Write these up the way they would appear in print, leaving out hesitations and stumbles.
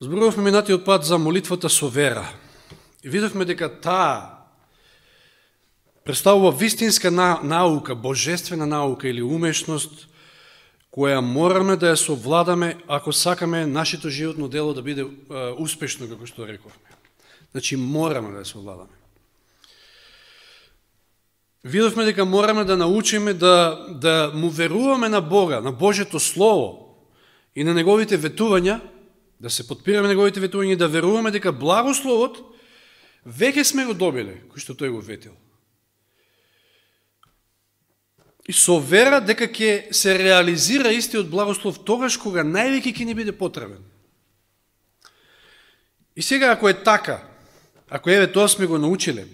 Зборувавме минатиот пат за молитвата со вера. И видовме дека таа представува вистинска наука, божествена наука или умешност, која мораме да ја совладаме ако сакаме нашето животно дело да биде успешно, како што рековме. Значи, мораме да ја совладаме. Видовме дека мораме да научиме да му веруваме на Бога, на Божето Слово и на Неговите ветувања, да се подпираме Неговите ветувања и да веруваме дека благословот веќе сме го добиле, кој што тој го ветил. И со вера дека ќе се реализира истиот благослов тогаш кога највеќе ќе ни биде потребен. И сега ако е така, ако еве тоа сме го научиле,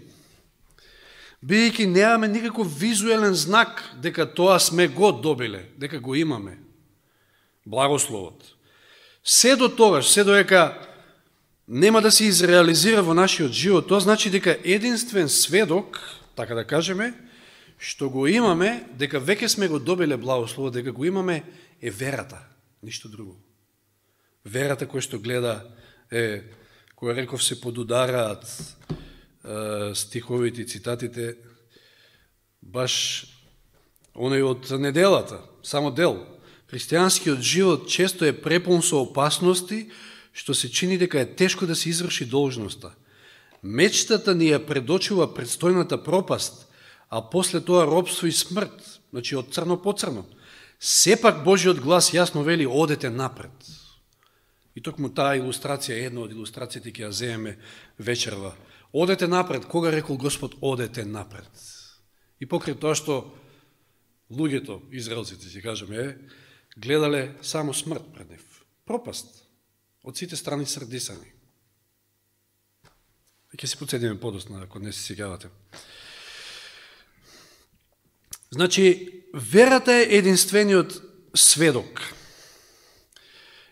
бидејќи немаме никаков визуелен знак дека тоа сме го добиле, дека го имаме, благословот. Се до тогаш, се доека нема да се изреализира во нашиот живот, тоа значи дека единствен сведок, така да кажеме, што го имаме, дека веќе сме го добиле благословот, дека го имаме, е верата, ништо друго. Верата која што гледа, која реков се подудараат стиховите и цитатите, баш оној од неделата, само дел. Христијанскиот живот често е препун со опасности, што се чини дека е тешко да се изврши должноста. Мечтата ни ја предочува предстојната пропаст, а после тоа робство и смрт, значи од црно по црно. Сепак Божиот глас јасно вели, одете напред. И токму таа илустрација, една од илустрациите ќе ја земеме вечерва. Одете напред, кога рекол Господ, одете напред. И покрај тоа што луѓето, израелците, ќе кажеме, гледале само смрт пред нив. Пропаст. Од сите страни срдисани. И ќе се подседиме подосна, ако не се сеќавате. Значи, верата е единствениот сведок.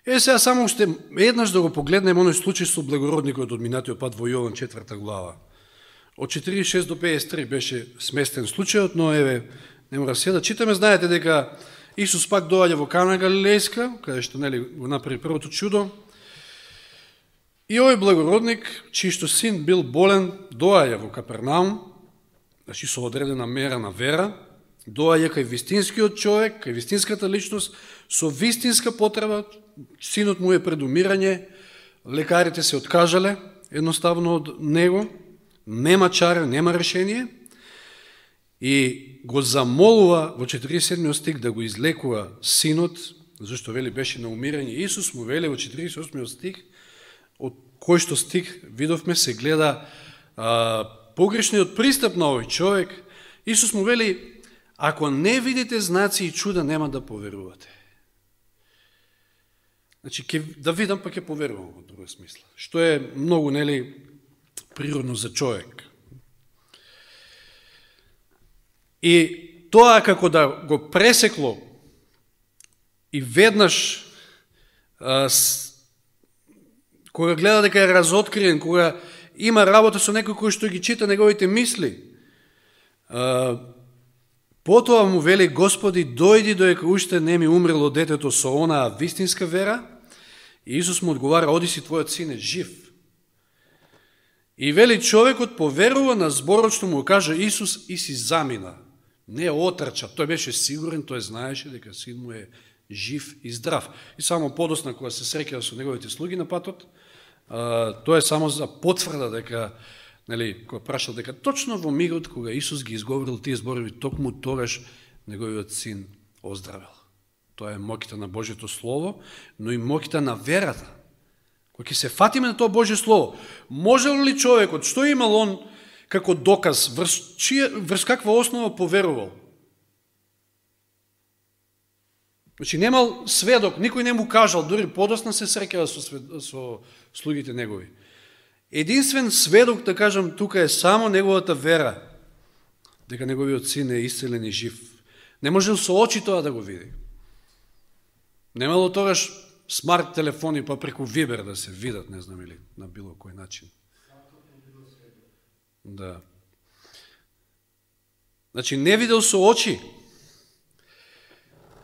Сега само уште еднаш да го погледнем оној случај со благородникот од минатиот пат во Јован 4 глава. Од 46 до 53 беше сместен случајот, но еве, не мора се да читаме. Знаете дека Исус пак доаѓа во Кана Галилејска, каде што го направи првото чудо. И овој благородник, чиј што син бил болен, доаѓа во Капернаум, значи со одредена мера на вера, доаѓа кај вистинскиот човек, кај вистинската личност, со вистинска потреба. Синот му е пред умирање, лекарите се откажале едноставно од него, нема чара, нема решение, и го замолува во 47 стих да го излекува синот, зашто вели беше на умирање. Исус му вели во 48 стих, од кој што стих видовме се гледа погрешниот пристап на овој човек. Исус му вели, ако не видите знаци и чуда, нема да поверувате. Значи, да видам, па ќе поверувам во друга смисла. Што е многу, природно за човек. И тоа како да го пресекло и веднаш кога гледа дека е разоткриен, кога има работа со некој кој што ги чита неговите мисли, потоа му вели, Господи, дојди доека уште не ми умрело детето со онаа вистинска вера. И Исус му одговара, оди си, твојот син е жив. И вели, човекот поверува на зборот што му кажа Исус и си замина. Не отрча, тој беше сигурен, тој знаеше дека син му е жив и здрав. И само подосна кога се среќава со неговите слуги на патот, тоа е само за потврда дека, кога прашал дека точно во мигот кога Исус ги изговорил тие зборови, токму тогаш неговиот син оздравел. Тоа е моќта на Божјето Слово, но и моќта на верата. Кога ќе се фатиме на тоа Божје Слово, можел ли човекот, што имал он како доказ, врз каква основа поверувал? Значи, немал сведок, никој не му кажал, дури подосна се среќава со слугите негови. Единствен сведок, да кажам, тука е само неговата вера, дека неговиот син е исцелен и жив. Не можел со очи тоа да го види. Немало тогаш смарт телефони па преку Вибер да се видат, не знам или на било кој начин. Да. Значи, не видел со очи.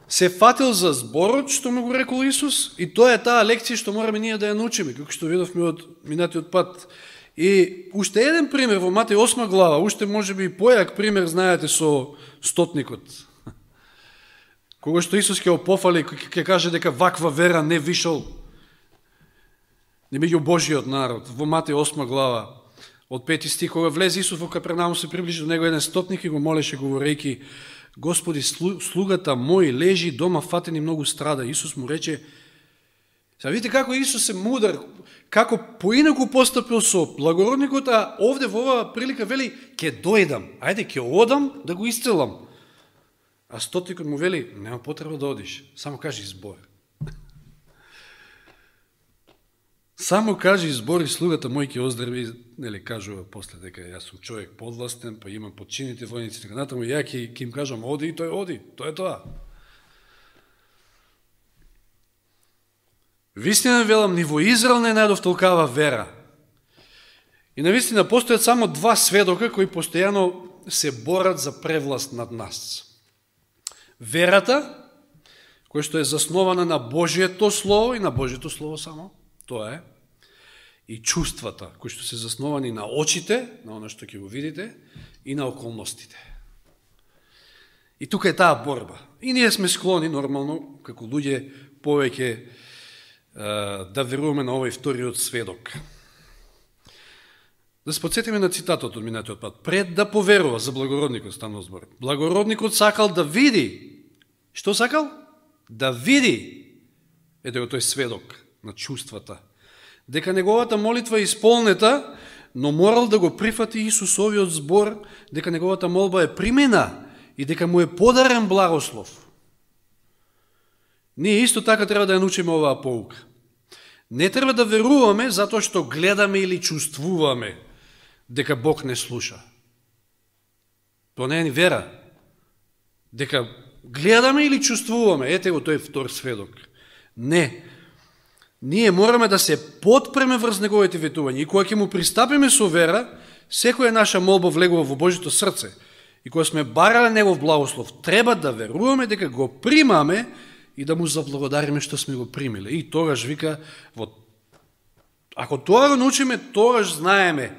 се фатил за зборот што му го рекол Исус, и тоа е таа лекција што мораме ние да ја научиме, како што видовме од минатиот пат. И уште еден пример во Матеј 8 глава, уште можеби и појак пример, знаете, со стотникот. Кога што Исус ќе опофали, ќе каже дека ваква вера не вишол не меѓу Божиот народ. Во Матеј 8 глава, од 5 стих, кога влезе Исус во Капернаум, се приближи до него еден стотник и го молеше, говорејќи: Господи, слугата мој лежи дома фатен и многу страда. Исус му рече, сега видите како Исус е мудар, како поинаку постапил со благородникот, а овде во оваа прилика вели, ќе дојдам, ајде ќе одам да го исцелам. А стотникот му вели, нема потреба да одиш, само кажи збор. Само кажи збор и слугата мој ќе оздрави, нели кажува после дека јас сум човек подластен, па имам подчинените војници, така натаму, ја ќе им кажам оди и тој оди, тоа е тоа. Вистина велам, ни во Израел не најдов толкава вера. И навистина постојат само два сведока кои постојано се борат за превласт над нас. Верата, која што е заснована на Божието Слово и на Божието Слово само, тоа е, и чувствата, кои што се засновани на очите, на оно што ќе го видите, и на околностите. И тука е таа борба. И ние сме склони, нормално, како луѓе, повеќе да веруваме на овој вториот сведок. Да се подсетиме на цитатот од минатиот пат. Пред да поверува, за благородникот станал збор. Благородникот сакал да види. Што сакал? Да види. Ете го тој сведок на чувствата. Дека неговата молитва е исполнета, но морал да го прифати Исусовиот збор, дека неговата молба е примена и дека му е подарен благослов. Ние исто така треба да ја научиме оваа поука. Не треба да веруваме затоа што гледаме или чувствуваме дека Бог не слуша. Тоа не е ни вера. Дека гледаме или чувствуваме, ете го тој втор сведок. Не. Ние мораме да се подпреме врз неговите ветувања и кога ќе му пристапиме со вера, секоја наша молба влегува во Божито срце и кога сме барале негов благослов, треба да веруваме дека го примаме и да му заблагодариме што сме го примиле. И тогаш вика, ако тоа го научиме, тогаш знаеме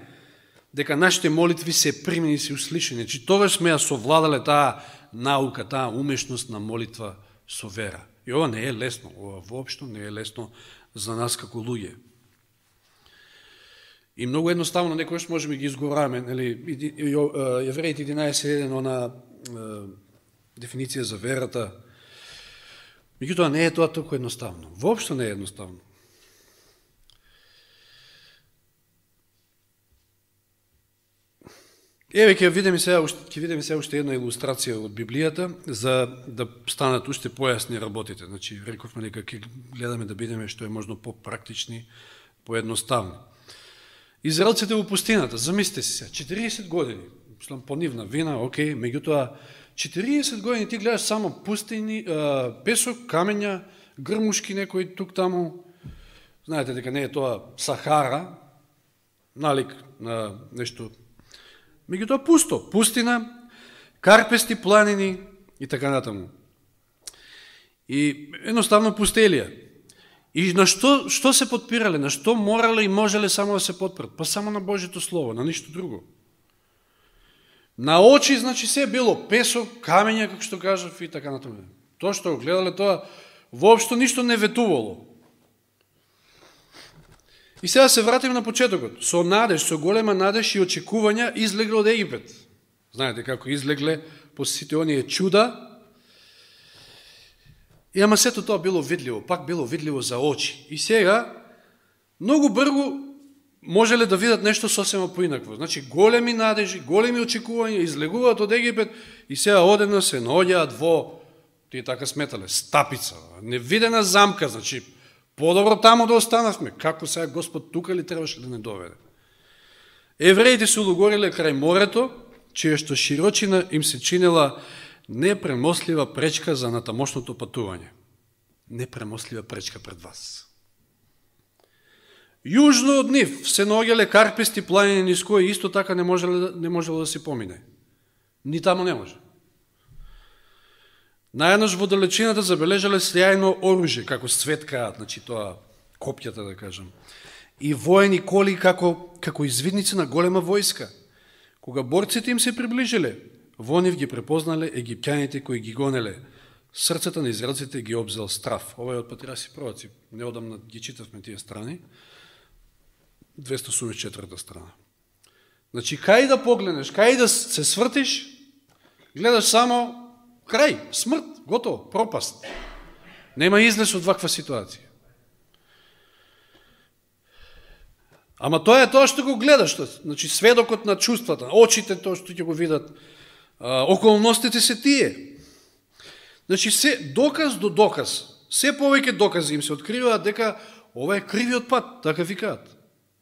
дека нашите молитви се примени и се услишани. Значи, тогаш сме ја совладале таа наука, таа умешност на молитва со вера. И ова не е лесно, ова воопшто не е лесно за нас како луѓе. И многу едноставно некојаш можеме ги изгораваме, нели, Јевреите 11:1, она дефиниција за верата. Меѓутоа не е тоа толку едноставно. Воопшто не е едноставно. Еве ќе видиме сега уште една илустрација од Библијата за да станат уште појасни работите. Значи рековме дека ќе гледаме да бидеме што е можно попрактични, поедноставни. Израелците во пустината, замислете си се, 40 години, по нивна вина, окей, меѓутоа 40 години ти гледаш само пустини, песок, камења, грмушки некои тук таму. Знаете дека не е тоа Сахара, налик на нешто. Меѓутоа пусто, пустина, карпести планини и така натаму. И едноставно пустелија. И на што се подпирале, на што морале и можеле само да се подпрат? Па само на Божито Слово, на ништо друго. На очи, значи, се било песок, камења, како што кажав, и така натаму. Тоа што го гледале, тоа воопшто ништо не ветувало. И сега се вратиме на почетокот. Со надеж, со голема надеж и очекувања излегле од Египет. Знаете како излегле после сите оние чуда. И ама сето тоа било видливо, пак било видливо за очи. И сега, многу брзо можеле да видат нешто сосема поинакво. Значи, големи надежи, големи очекувања, излегуваат од Египет и сега одеднаш се наоѓаат во, тие така сметале, стапица, невидена замка, значи, подобро таму да останавме. Како сега Господ тука ли требаше да не доведе? Евреите се улогориле крај морето, чија што широчина им се чинела непремослива пречка за натамошното патување. Непремослива пречка пред вас. Јужно од нив се наоѓале карпести планини низ кои исто така не можело да се помине. Ни таму не може. Наеднаш во далечината забележале сјајно оружје, како светкаат, значи тоа копјата да кажам, и воени коли како извидници на голема војска. Кога борците им се приближиле, во нив ги препознале египтјаните кои ги гонеле. Срцата на израелците ги обзел страв. Ова е од Патриарси пророци. Неодамна ги читавме тие страни. 284 страна. Значи, кај да погледнеш, кај да се свртиш, гледаш само крај, смрт, готово, пропаст. Нема излез од ваква ситуација. Ама тоа е тоа што го гледаш, значи сведокот на чувствата, очите тоа што ќе го видат, околностите се тие. Значи, се доказ до доказ, се повеќе докази им се откриваат дека ова е кривиот пат, така викаат.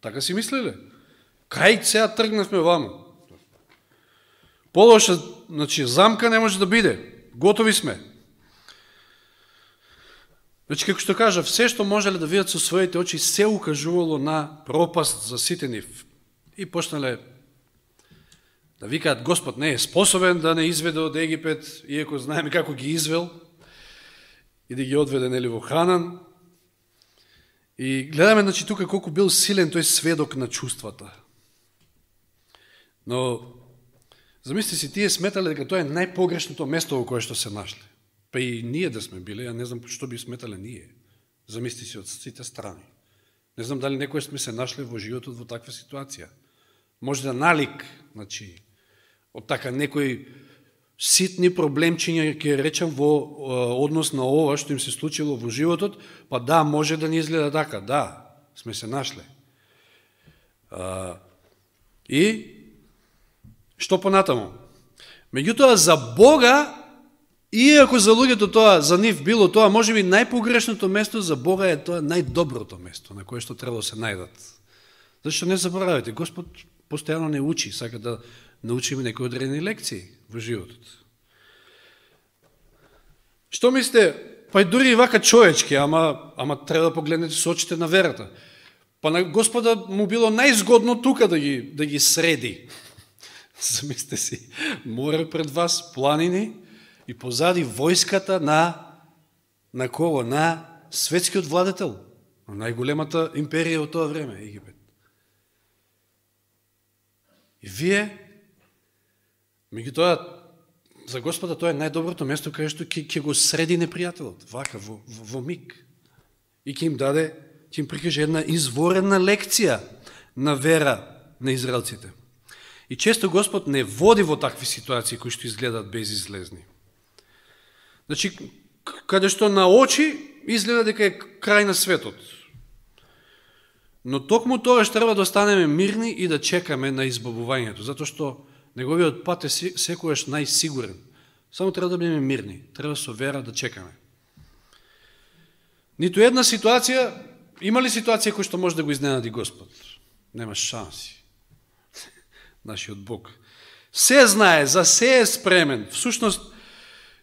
Така си мислеле. Кај сега тргнавме ваму. Полоша, значи, замка не може да биде. Готови сме. Значи, како што кажа, се што можеле да видат со своите очи, се укажувало на пропаст за сите нив. И почнале да викаат, Господ не е способен да не изведе од Египет, иако знаеме како ги извел, и да ги одведе нели во Ханан. И гледаме, значи, тука колку бил силен тој сведок на чувствата. Но, замисли си, тие сметале дека тоа е најпогрешното место во кое што се нашле. Па и ние да сме биле, ја не знам што би сметале ние. Замисли си од сите страни. Не знам дали некој сме се нашле во животот во таква ситуација. Може да налик, значи, од така некои ситни проблемчиња, ќе речам, во однос на ова што им се случило во животот, па да, може да ни изгледа така, да, сме се нашле. И што понатаму? Меѓутоа, за Бога, иако за луѓето тоа, за нив било тоа, може би најпогрешното место, за Бога е тоа најдоброто место, на кое што треба да се најдат. Зашто не заборавате, Господ постојано не учи, сака да научиме некои одредени лекции во животот. Што мислите? Па и дури и вака човечки, ама треба да погледнете со очите на верата. Па на Господа му било најзгодно тука да ги среди. Замислете си, море пред вас, планини и позади војската на кого? На светскиот владетел, на најголемата империја од тоа време, Египет. И вие, меѓутоа, за Господа тоа е најдоброто место каде што ќе го среди непријателот, вака, во миг. И ќе им даде, ќе им прикаже една изворена лекција на вера на израелците. И често Господ не води во такви ситуации кои што изгледаат безизлезни. Значи, каде што на очи изгледа дека е крај на светот. Но токму тоа што треба да останеме мирни и да чекаме на избавувањето, затоа што неговиот пат е секогаш најсигурен. Само треба да бидеме мирни, треба со вера да чекаме. Ниту една ситуација, има ли ситуација која што може да го изненади Господ? Нема шанси. Нашиот Бог се знае, за се е спремен. Всушност,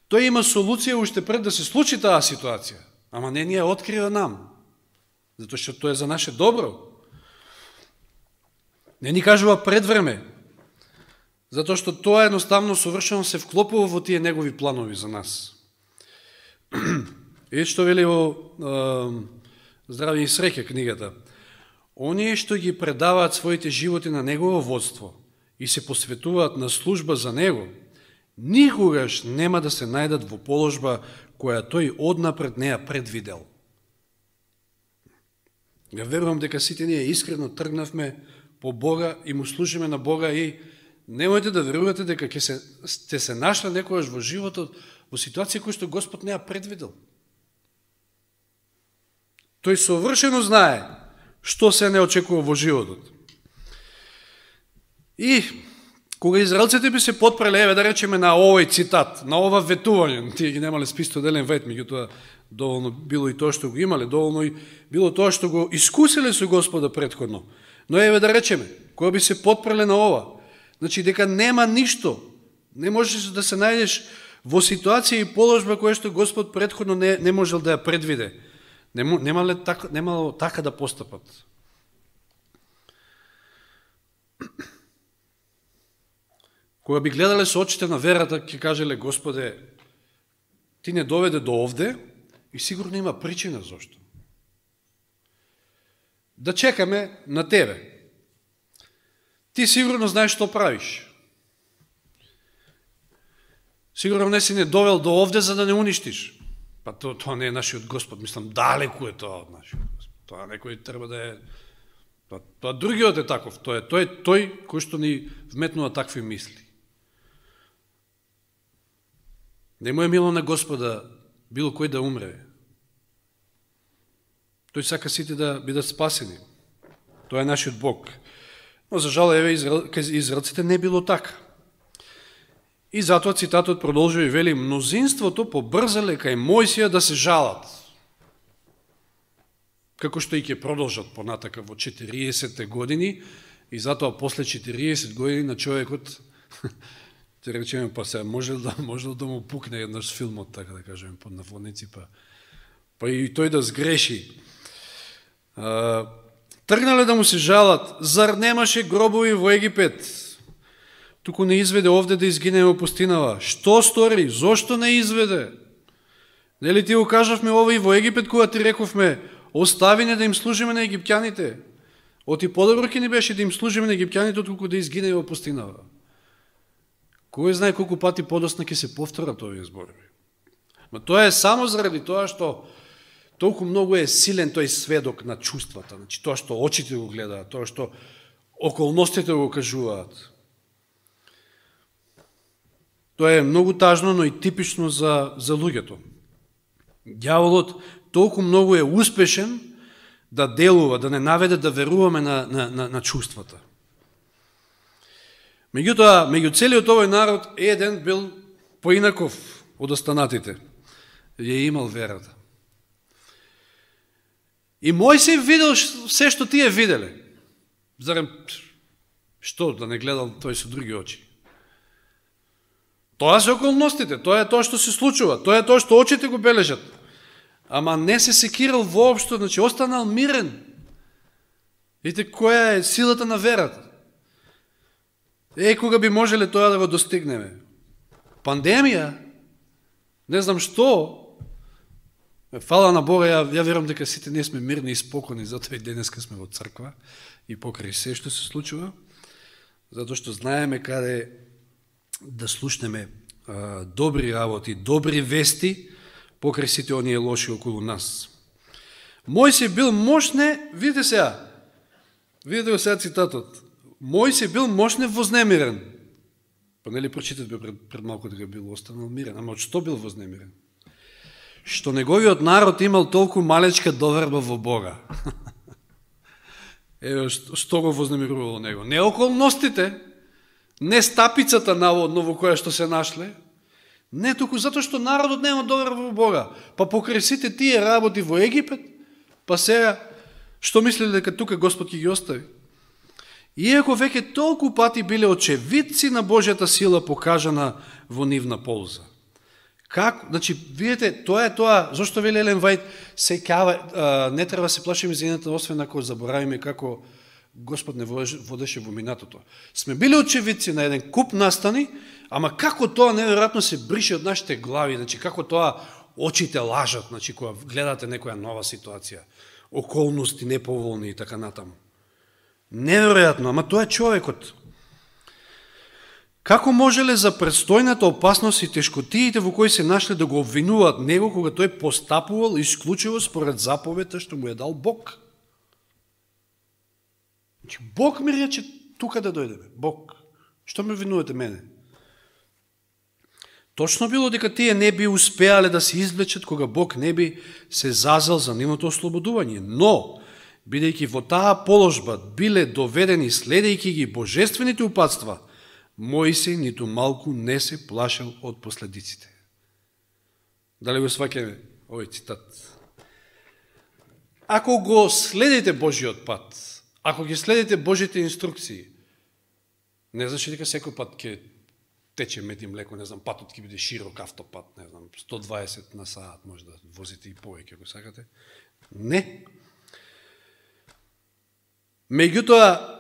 тој има солуција уште пред да се случи таа ситуација, ама не ни ја открива нам, затоа што тоа е за наше добро. Не ни кажува пред време, затоа што тоа едноставно совршено се вклопува во тие негови планови за нас. И што вели во Здравје и среќа книгата, оние што ги предаваат своите животи на негово водство и се посветуваат на служба за него, никогаш нема да се најдат во положба која тој однапред не ја предвидел. Ја верувам дека сите ние искрено тргнавме по Бога и му служиме на Бога и немојте да верувате дека сте се нашли некојаш во животот во ситуација која што Господ не ја предвидел. Тој совршено знае што се не очекува во животот. И кога израелците би се потпреле, еве да речеме на овој цитат, на ова ветување, тие ги немале списто делен вет, меѓутоа доволно било и тоа што го имале, доволно и било тоа што го искуселе со Господа претходно. Но еве да речеме, кога би се потпреле на ова, значи дека нема ништо, не можеш да се најдеш во ситуација и положба која што Господ претходно не можел да ја предвиде. Немало така да постапат. Кога би гледале со очите на верата, ќе кажеле, Господе, ти не доведе до овде и сигурно има причина зашто. Да чекаме на тебе. Ти сигурно знаеш што правиш. Сигурно не си не довел до овде за да не уништиш. Па тоа не е нашиот Господ, мислам, далеку е тоа од нашиот Господ. Тоа некој треба да е... Тоа другиот е таков, тој е тој кој што ни вметнува такви мисли. Не му е мило на Господа било кој да умре. Тој сака сите да бидат спасени. Тоа е нашиот Бог. Но за жал, еве, израелците не било така. И затоа цитатот продолжува и вели: мнозинството побрзале кај Мојсија да се жалат. Како што и ќе продолжат понатака во 40 години, и затоа после 40 години на човекот, те речеме, па се може да му пукне еднаш филмот, така да кажеме, под наводници, па и тој да сгреши. Тргнале да му се жалат, зар немаше гробови во Египет? Туку не изведе овде да изгине во пустинава. Што стори? Зошто не изведе? Нели ти го кажавме ова и во Египет, кога ти рековме, остави не да им служиме на египтяните. Оти подобро ќе ни беше да им служиме на египтяните, отколку да изгине во пустинава. Кој знае колку пати подосна ќе се повторат овие зборови. Ма тоа е само заради тоа што толку многу е силен тој сведок на чувствата, значи тоа што очите го гледаат, тоа што околностите го кажуваат. Тоа е многу тажно, но и типично за луѓето. Дјаволот толку многу е успешен да делува, да не наведе да веруваме на чувствата. Меѓутоа, меѓу целиот овој народ, еден бил поинаков од останатите. Ја имал верата. И Мојсей видел се што тие виделе. Зарем, што, да не гледал тој со други очи? Тоа се околностите, тоа е тоа што се случува, тоа е тоа што очите го бележат. Ама не се секирал воопшто, значи останал мирен. Видите која е силата на верата. Кога би можеле тоа да го достигнеме? Пандемија? Не знам што? Фала на Бога, ја верувам дека сите ние сме мирни и спокойни, затоа и денеска сме во црква и покрај се што се случува, затоа што знаеме каде да слушнеме добри работи, добри вести, покрај сите оние лоши околу нас. Мојсей бил мошне, видите го сега цитатот, Мојсей бил мошне вознемирен. Па нели прочитавме пред малку дека бил останал мирен, ама од што бил вознемирен? Што неговиот народ имал толку малечка доверба во Бога. Еве што го вознемирувало него? Не околностите, не стапицата наводно во која што се нашле, не туку затоа што народот нема доверба во Бога. Па покрај сите тие работи во Египет, па сега што мислеле дека тука Господ ќе ги остави? Иако веќе толку пати биле очевидци на Божјата сила покажана во нивна полза. Как? Значи, видите, тоа е тоа, зашто вели Елен Вајд, не треба се плашиме за едната, освен ако заборавиме како Господ не водеше во минатото. Сме били очевидци на еден куп настани, ама како тоа неверојатно се брише од нашите глави, значи како тоа очите лажат, значи кога гледате некоја нова ситуација, околности неповолни и така натаму. Неверојатно, ама тоа е човекот. Како можеле за предстојната опасност и тешкотиите во кои се нашле да го обвинуваат него кога тој постапувал исклучиво според заповедта што му е дал Бог? Значи, Бог ми рече тука да дојдеме. Бог. Што ме обвинувате мене? Точно било дека тие не би успеале да се извлечат кога Бог не би се зазел за нивното ослободување. Но, бидејќи во таа положба биле доведени следејќи ги божествените упатства, Мојсей ниту малку не се плашел од последиците. Дали го сваќаме овој цитат? Ако го следите Божиот пат, ако ги следите Божите инструкции, не значи дека секој пат ќе тече мед и млеко, не знам, патот ќе биде широк автопат, не знам, 120 на саат, може да возите и повеќе, ако сакате. Не. Меѓутоа,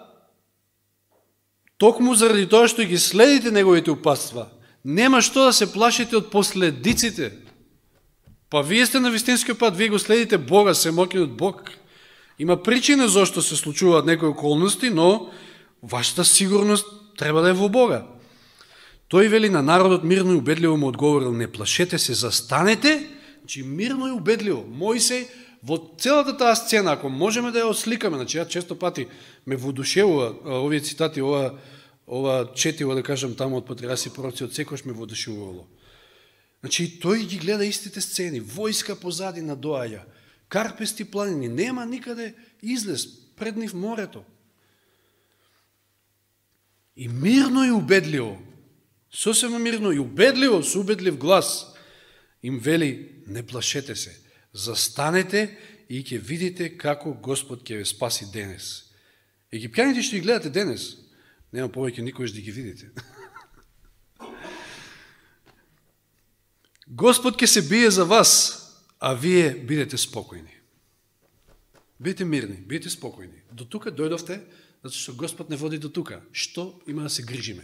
токму заради тоа што ги следите неговите упатства, нема што да се плашите од последиците Па вие сте на вистинскиот пат, вие го следите Бога, семокиот Бог. Има причина зашто се случуваат некои околности, но вашата сигурност треба да е во Бога. Тој вели на народот мирно и убедливо му одговорил: не плашете се, застанете, значи мирно и убедливо. Мојсей во целата таа сцена, ако можеме да ја осликаме, значи ја често пати ме воодушевува овие цитати, ова четиво, да кажам, таму од патриарси пророци, од секојаш ме воодушевувало. Значи тој ги гледа истите сцени, војска позади надоаѓа, карпести планини, нема никаде излез, пред нив морето. И мирно и убедливо, сосема мирно и убедливо, со убедлив глас, им вели: не плашете се, застанете и ќе видите како Господ ќе ве спаси денес. Египтяните што ги гледате денес, нема повеќе никојаш да ги видите. Господ ќе се бие за вас, а вие бидете спокојни. Бидете мирни, бидете спокојни. До тука дојдовте, затоа што Господ не води до тука. Што има да се грижиме?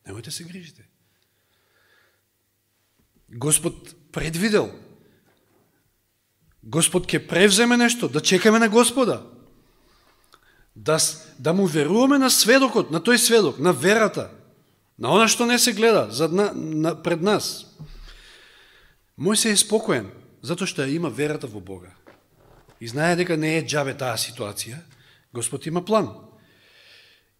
Немојте се грижите. Господ предвидел. Господ ќе превземе нешто, да чекаме на Господа. Да му веруваме на сведокот, на тој сведок, на верата, на она што не се гледа пред нас. Мојсей е спокоен, затоа што има верата во Бога. И знае дека не е џабе таа ситуација, Господ има план.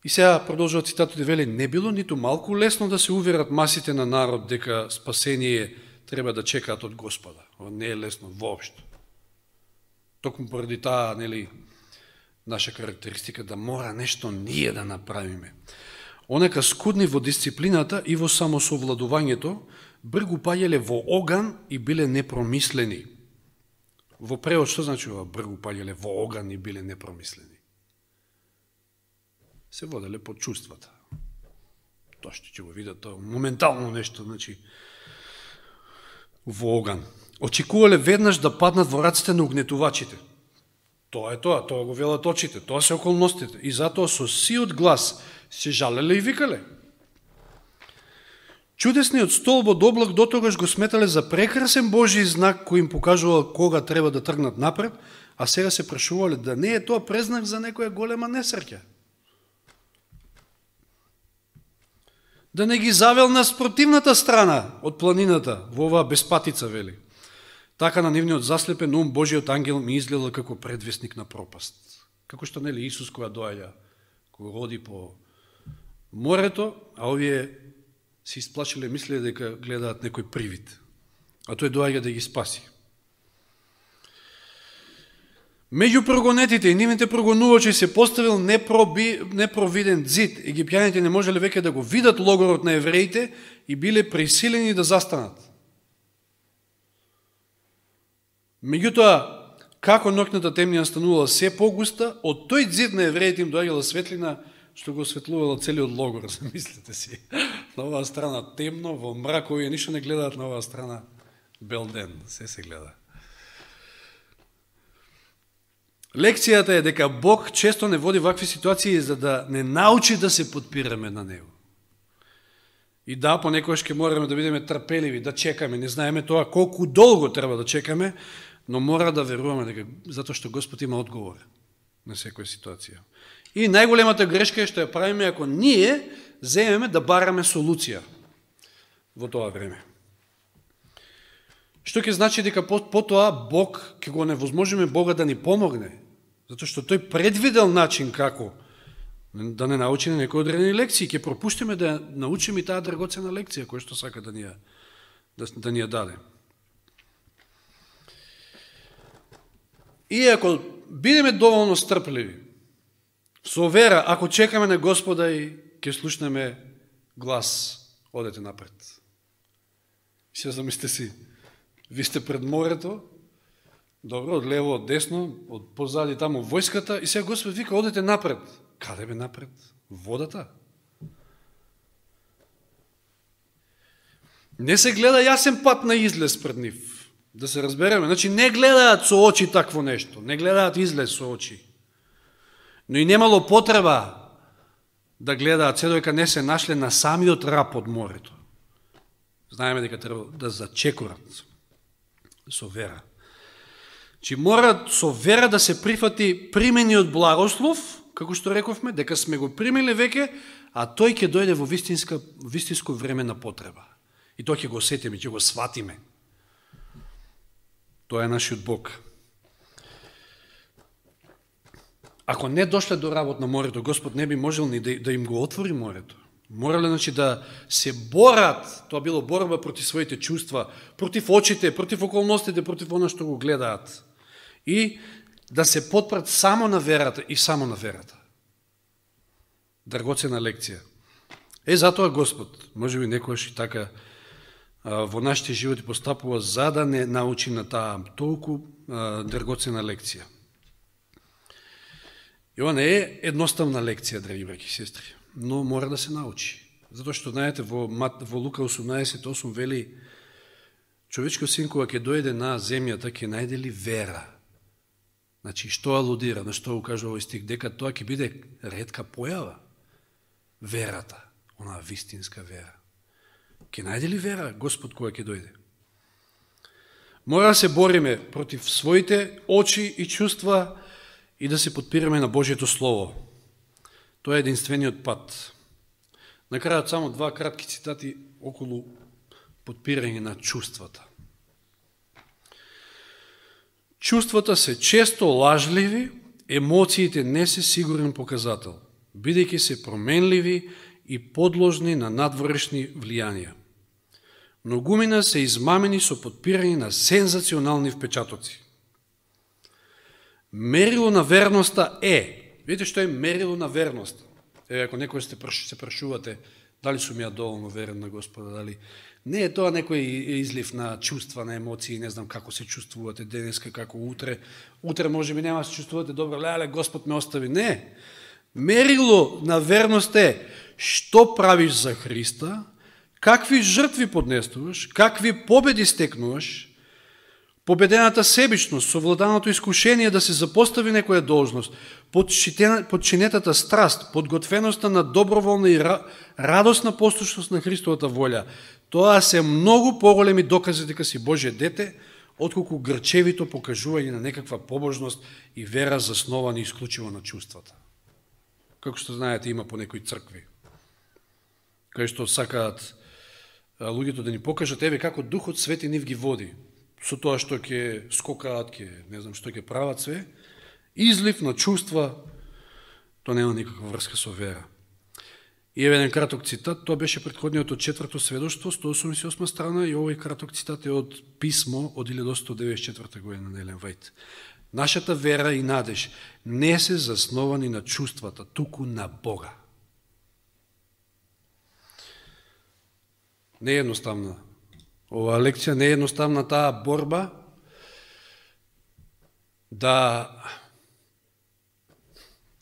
И сега продолжува цитатот и вели: не било ниту малку лесно да се уверат масите на народ дека спасение треба да чекаат од Господа. Ова не е лесно воопшто. Токму поради таа, нели, наша карактеристика да мора нешто ние да направиме. Онека скудни во дисциплината и во самосовладувањето, бргу паѓале во оган и биле непромислени. Во превод што значи ова бргу паѓале во оган и биле непромислени? Се воделе под чувствата. Тоа што ќе го видат, тоа моментално нешто, значи, во оган. Очекувале веднаш да паднат во раците на угнетувачите. Тоа го велат очите, тоа се околностите. И затоа со сиот глас се жалеле и викале. Чудесниот столб од облак дотогаш го сметале за прекрасен Божи знак кој им покажувал кога треба да тргнат напред, а сега се прашувале да не е тоа презнак за некоја голема несреќа. Да не ги завел на спротивната страна од планината во оваа безпатица, вели. Така на нивниот заслепен ум Божиот ангел ми изгледал како предвестник на пропаст. Како што нели Исус кога доаѓа, кога роди по морето, а овие се исплашиле, мислеле дека гледаат некој привид. А тој доаѓа да ги спаси. Меѓу прогонетите и нивните прогонувачи се поставил непровиден зид. Египтјаните не можеле веќе да го видат логорот на евреите и биле присилени да застанат. Меѓутоа, како ноќната темнина станувала се погуста, од тој зид на евреите им доаѓала светлина, што го осветлувала целиот логор, замислете си. На оваа страна темно, во мрак, овие ништо не гледаат, на оваа страна бел ден, се гледа. Лекцијата е дека Бог често не води вакви ситуации за да не научи да се подпираме на Него. И да, понекогаш ќе мораме да бидеме трпеливи, да чекаме, не знаеме тоа колку долго треба да чекаме, но мора да веруваме дека затоа што Господ има одговор на секоја ситуација. И најголемата грешка е што ја правиме ако ние земеме да бараме солуција во тоа време. Што ќе значи дека потоа Бог ќе го невозможиме Бога да ни помогне, затоа што тој предвидел начин како да не научиме некои одредени лекции, ќе пропуштиме да научиме и таа драгоцена лекција која што сака да ни ја даде. И ако бидеме доволно стрпливи, со вера, ако чекаме на Господа и ќе слушнеме глас, одете напред. И се замислите си, ви сте пред морето, добро, од лево, од десно, од позади таму војската, и сега Господ вика, одете напред. Каде бе напред? Водата? Не се гледа јасен пат на излез пред нив. Да се разбереме. Значи, не гледаат со очи такво нешто. Не гледаат излез со очи. Но и немало потреба да гледаат, се додека не се нашле на самиот рап од морето. Знаеме дека треба да зачекорат. Со вера. Чи мора со вера да се прифати примениот благослов, како што рековме, дека сме го примили веќе, а тој ќе дојде во вистинско време на потреба. И тоа ќе го осетиме, ќе го сватиме. Тоа е нашиот Бог. Ако не дошле до работ на морето, Господ не би можел ни да им го отвори морето. Морале, значи, да се борат, тоа било борба против своите чувства, против очите, против околностите, против оно што го гледаат. И да се потпрат само на верата и само на верата. Драгоцена лекција. Затоа Господ, може би некојаш и така, во нашите животи постапува за да не научи на таа толку драгоцена лекција. И ова не е едноставна лекција, драги браќи и сестри, но мора да се научи. Затоа што, знаете, во Лука 18:8 вели, човечкиот син кога ќе дојде на земјата, ќе најде ли вера? Значи, што алудира, на што укажува овој стих? Дека тоа ќе биде ретка појава. Верата, онаа вистинска вера. Ќе најде ли вера Господ кога ќе дојде? Мора да се бориме против своите очи и чувства и да се подпираме на Божието Слово. Тоа е единствениот пат. На крајот само два кратки цитати околу подпирање на чувствата. Чувствата се често лажливи, емоциите не се сигурен показател, бидејќи се променливи и подложни на надворешни влијанија. Многумина се измамени со подпирање на сензационални впечатоци. Мерило на верноста е, видите што е мерило на верност? Ако некој се прашувате дали сум ја доволно верен на Господа, дали не е тоа некој излив на чувства, на емоции, не знам како се чувствувате денеска, како утре. Утре може би нема да се чувствувате добро, леле, Господ ме остави. Не. Мерило на верност е што правиш за Христа, какви жртви поднесуваш, какви победи стекнуваш, победената себичност, совладаното искушение да се запостави некоја должност, подчинетата страст, подготвеноста на доброволна и радосна послушност на Христовата волја. Тоа се многу поголеми докази дека си Божие дете, отколку грчевито покажување на некаква побожност и вера засновани исклучиво на чувствата. Како што знаете, има по некои цркви, кај што сакаат луѓето да ни покажат, еве како Духот Свети нив ги води, со тоа што ќе скокаат, не знам што ќе прават све, излив на чувства, тоа нема никаква врска со вера. И еве еден краток цитат, тоа беше претходниот од 4-то сведоштво, 188 страна, и овој краток цитат е од писмо од 1894 година на Елен Вајт. Нашата вера и надеж не се засновани на чувствата, туку на Бога. Не е едноставна оваа лекција, не е едноставна таа борба да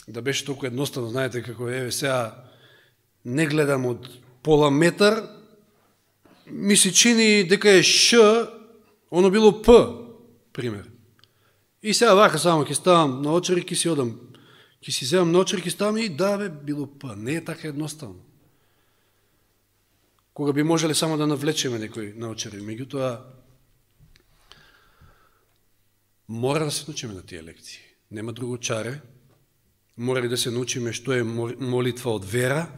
беше толку едноставно, знаете како еве сега не гледам од пола метар, ми се чини дека е Ш, оно било П, пример. И сега вака само ќе ставам на очери, ќе си одам, ќе си земам на очери, ќе ставам и да бе, било П. Не е така едноставно. Кога би можеле само да навлечеме некој научари. Меѓутоа, мора да се научиме на тие лекции. Нема друго чаре. Мора да се научиме што е молитва од вера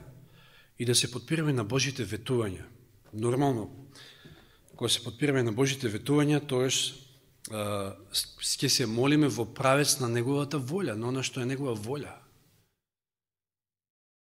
и да се подпираме на Божите ветувања. Нормално, кога се подпираме на Божите ветувања, тоеш ќе се молиме во правец на Неговата волја, но она што е Негова волја.